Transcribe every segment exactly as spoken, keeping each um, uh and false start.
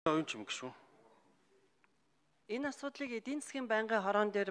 Оюун ч юм гişүү. Энэ асуудлыг эдийн засгийн байнгын хороон дээр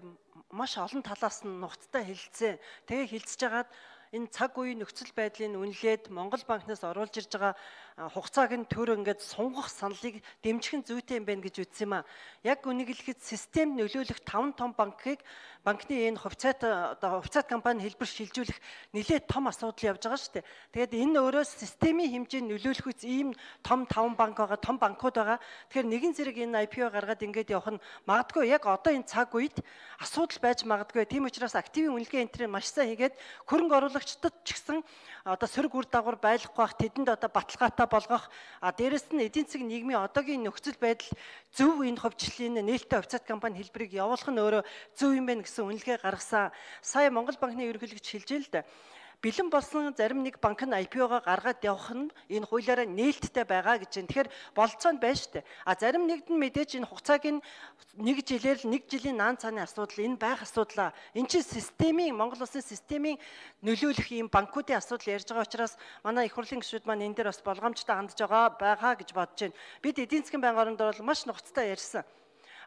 маш олон талаас нь нухацтай хэлэлцээ. Тэгээ хэлцэж хагаад энэ цаг үеийн нөхцөл байдлыг үнэлээд Монгол банкнаас оруулж ирж байгаа хугацааг нь төр ингээд сунгах саналыг дэмжих нь зүйтэй юм байна гэж үзсэн юм а. Яг үнийг хэлэхэд системд нөлөөлөх таван том банкыг банкны энэ хувьцаат одоо хувьцаат компани хэлбэр шилжүүлэх нэлээд том асуудал явж байгаа шүү дээ. Тэгээд энэ өөрөө системийн хэмжээнд нөлөөлөх үс ийм том таван банк байгаа, том банкуд байгаа. Тэгэхээр нэгэн зэрэг энэ ай пи о гаргаад ингээд явах нь магадгүй яг одоо энэ цаг үед асуудал байж магадгүй. Тийм учраас активын үнэлгээ энтрийг маш сайн хийгээд хөрөнгө оруулагчдад ч гэсэн одоо сөрөг үр дагавар байхгүй бах, тэдэнд одоо баталгаатай болгох, а дээрэс нь эдийн засгийн нийгмийн одоогийн нөхцөл байдал зөв энэ хувьчлалын нээлттэй хувьцаат компани хэлбэрийг явуулах нь өөрөө зөв юм байна гэсэн үнэлгээ гаргасан. Сая Монгол банкны ерөнхийлөгч хэлж байл л да. Бэлэн болсон зарим нэг банк нь ай пи о-га гаргаад явах нь энэ хуулиараа нээлттэй байгаа гэж байна. Тэгэхээр болцоонд байна шүү дээ. А зарим нэгд нь мэдээж энэ хугацааг нь нэг жилээр л нэг жилийн наан цааны асуудал энэ байх асуудлаа. Энэ чинь системийн Монгол улсын системийн нөлөөлөх ийм банкуудын асуудал ярьж байгаа учраас манай их хурлын гишүүд маань энэ дээр бас болгоомжтой хандж байгаа байгаа гэж бодож байна. Бид эдийн засгийн байнгын оронд бол маш нухацтай ярьсан.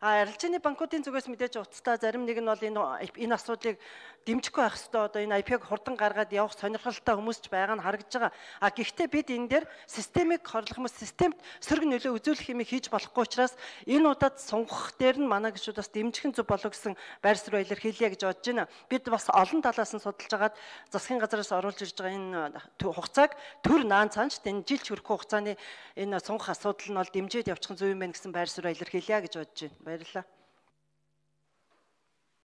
А арилжааны банкуудын зүгээс мэдээж утастай зарим нэг нь бол энэ энэ асуудлыг дэмжихгүй байх ёстой. Одоо энэ ай пи о-г хурдан гаргаад явах сонирхолтой хүмүүс ч байгаа нь харагдаж байгаа. А гэхдээ бид энэ дээр системийг хорлох юм, системд сөрөг нөлөө үзүүлэх юм хийж болохгүй учраас энэ удаад сунгах дээр нь манай гишүүд бас дэмжихэн зөв болов гэсэн байр суурь баялаар хэлье гэж бодож байна. Бид бас олон талаас нь судалж агаад засгийн газраас оруулж ирж байгаа энэ хугацааг төр наан цаанч энэ жилч хүрэхгүй хугацааны энэ сунгах асуудал нь бол дэмжиж явчих нь зөв юм байна гэсэн байр суурь баялаар хэлье гэж бодож байна. Баярлалаа.